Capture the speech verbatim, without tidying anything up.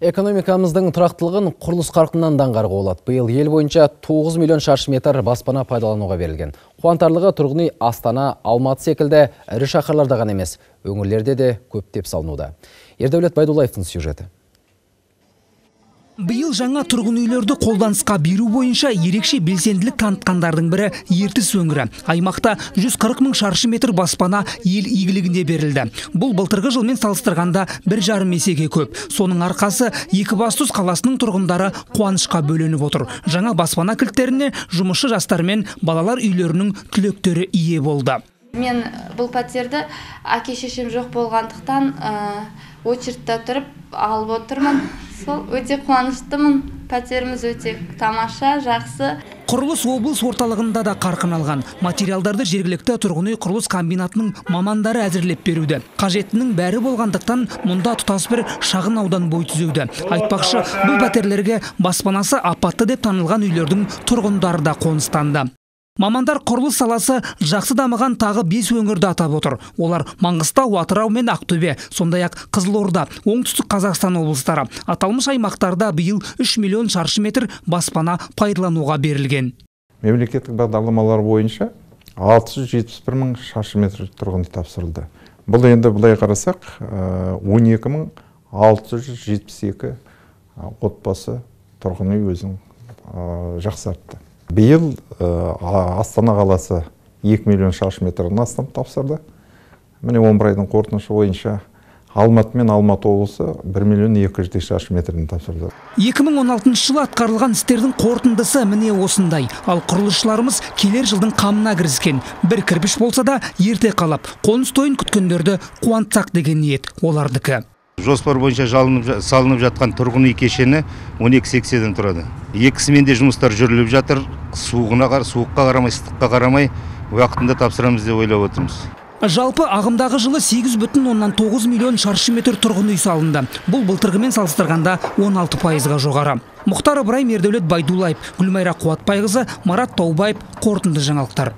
Экономикамыздың тұрақтылығын құрылыс қарқынынан аңғаруға болады. Биыл ел бойынша тоғыз миллион шаршы метр баспана пайдалануға берілген. Қуантарлығы тұрғын үй Астана, Алматы секілді ірі шаһарларда ғана емес, өңірлерде де көптеп салынуда. Ердәулет Байдуллаевтың сюжеті. Биыл жаңа тұрғын үйлерді қолданысқа беру бойынша ерекше белсенділік танытқандардың бірі Ертіс өңірі. Аймақта жүз қырық мың шаршы метр баспана ел игілігіне берілді. Бұл былтырғы жылмен салыстырғанда бір жарым есеге көп. Соның арқасы Екібастұз қаласының тұрғындары қуанышқа бөленіп отыр. Жаңа баспана кілттеріне жұмысшы жастар мен балалар үйлерінің түлектері ие болды. Мен бұл пәтерді әке шешем жоқ болғандықтан очередьте тұрып алып отырмын. Сол өте қуаныштымын. Пәтеріміз өте тамаша, жақсы. Құрылыс облыс орталығында да қарқын алған. Материалдарды жергілікті тұрғын үй құрылыс комбинатының мамандары әзірлеп беруді. Қажеттінің бәрі болғандықтан мұнда тұтас бір шағын аудан бой түзеуді. Айтпақшы, бұл пәтерлерге баспанасы апатты деп танылған үйлердің тұрғындары да қоныстанды. Мамандар құрылыс саласы жақсы дамыған тағы бес өңірді атап отыр. Олар Маңғыстау, Атырау мен Ақтөбе, сондай-ақ Қызылорда, Оңтүстік Қазақстан облыстары. Аталмыш аймақтарда биыл үш миллион шаршы метр баспана пайдалануға берілген. Мемлекеттік бағдарламалар бойынша алты жүз жетпіс бір мың шаршы метр тұрғын үй тапсырылды. Бұл енді былай қарасақ, он екі мың алты жүз жетпіс екі отбасы тұрғын үй өзін жақсартты. Биыл Астана қаласы екі миллион шаршы метрден астам тапсырды. Міне он бір айдың қорытындысы бойынша Алматы мен Алматы облысы бір миллион екі жүз шаршы метрден тапсырды. екі мың он алтыншы жылы атқарылған істердің қорытындысы міне осындай. Ал құрылысшыларымыз келер жылдың қамына кіріскен. Бір кірпіш болса да ерте қалап, қоныс тойын күткендерді қуантсақ деген ниет олардікі. Жоспар бойынша салынып жатқан тұрғын үй кешені он екі сексеннен тұрады. Екісімен де жұмыстар жүріліп жатыр. Суығына қар, суыққа қарамай, ыстыққа қарамай уақытында тапсырамыз деп ойлап отырмыз. Жалпы ағымдағы жылы сегіз бүтін оннан тоғыз миллион шаршы метр тұрғын үй салынды. Бұл былтырғымен салыстырғанда он алты пайызға жоғары. Мұхтар Ыбырайым, Ердәулет Байдуллаев, Гүлмайра Қуатбайқызы, Марат Таубаев, қорытынды жаңалықтар.